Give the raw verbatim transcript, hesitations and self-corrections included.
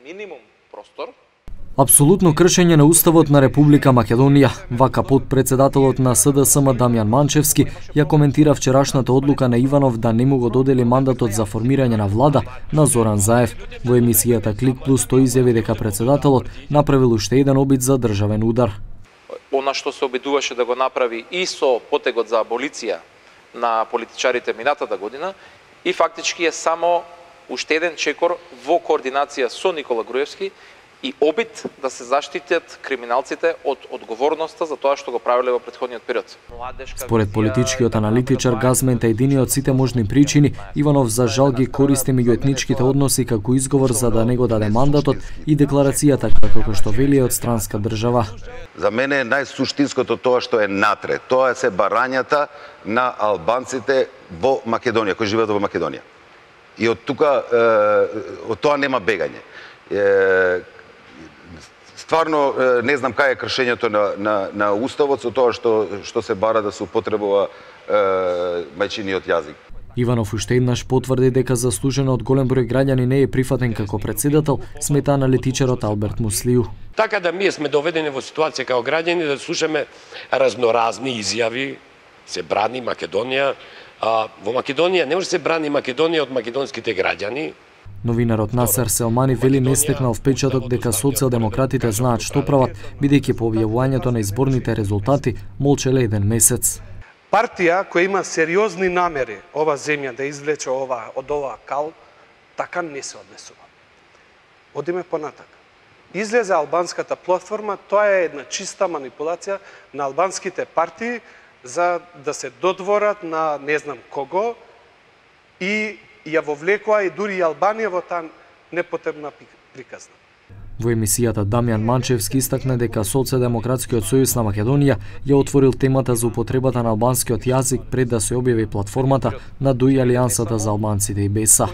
минимум простор. Апсолутно кршење на Уставот на Република Македонија, вака подпредседателот на С Д С М Дамјан Манчевски ја коментира вчерашната одлука на Иванов да не му го додели мандатот за формирање на влада на Зоран Заев. Во емисијата Клик Плюс тој изјави дека председателот направил уште еден обид за државен удар. Она што се обидуваше да го направи и со потегот за аболиција на политичарите минатата година и фактички е само уште еден чекор во координација со Никола Груевски и обид да се заштитат криминалците од одговорноста за тоа што го правеле во претходниот период. Според политичкиот аналитичар Газмент едини од сите можни причини, Иванов за жал ги користи меѓуетничките односи како изговор за да не го даде мандатот и декларацијата како што вели од странска држава. За мене е најсуштинското тоа што е натре. Тоа се барањата на албанците во Македонија, кои живеат во Македонија. И од тука од тоа нема бегање. Стварно не знам кај е кршењето на, на, на Уставот со тоа што, што се бара да се употребува е, мајчиниот јазик. Иванов уште еднаш потврди дека заслужено од голем број граѓани не е прифатен како председател, смета аналитичарот Алберт Муслију. Така да ние сме доведени во ситуација како граѓани да слушаме разноразни изјави, се брани Македонија. А, во Македонија не може се брани Македонија од македонските граѓани. Новинарот Насер Селмани вели не стекнал впечаток дека социјалдемократите знаат што прават, бидејќи по објавувањето на изборните резултати молчеле еден месец. Партија која има сериозни намери ова земја да извлече ова од ова кал, така не се однесува. Одиме понатака. Излезе албанската платформа, тоа е една чиста манипулација на албанските партии за да се додворат на не знам кого и ја вовлекоа и дури и Албанија во таа непотребна приказна. Во емисијата Дамјан Манчевски истакна дека Социјалдемократскиот сојуз на Македонија ја отворил темата за употребата на албанскиот јазик пред да се објави платформата на ДУИ Алијансата за албанците и Беса.